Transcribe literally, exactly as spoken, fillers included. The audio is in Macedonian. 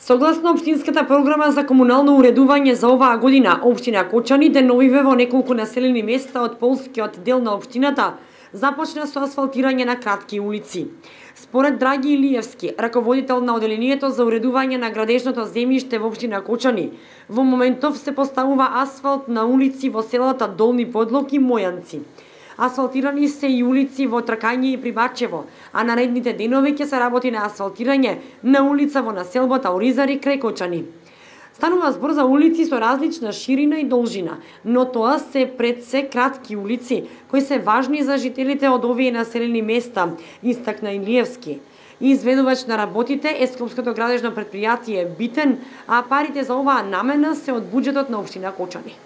Согласно општинската програма за комунално уредување за оваа година, општина Кочани деновиве во неколку населени места од полскиот дел на општината започна со асфалтирање на кратки улици. Според Драги Илиевски, раководител на оделението за уредување на градежното земјиште во општина Кочани, во моментов се поставува асфалт на улици во селата Долни Подлог и Мојанци. Асфалтирани се и улици во Тракање и Прибачево, а наредните денови ќе се работи на асфалтирање на улица во населбата Оризари крај Кочани. Станува збор за улици со различна ширина и должина, но тоа се пред се кратки улици кои се важни за жителите од овие населени места, истакна Илиевски. Изведувач на работите е Скопското градежно претпријатие Битен, а парите за оваа намена се од буџетот на општина Кочани.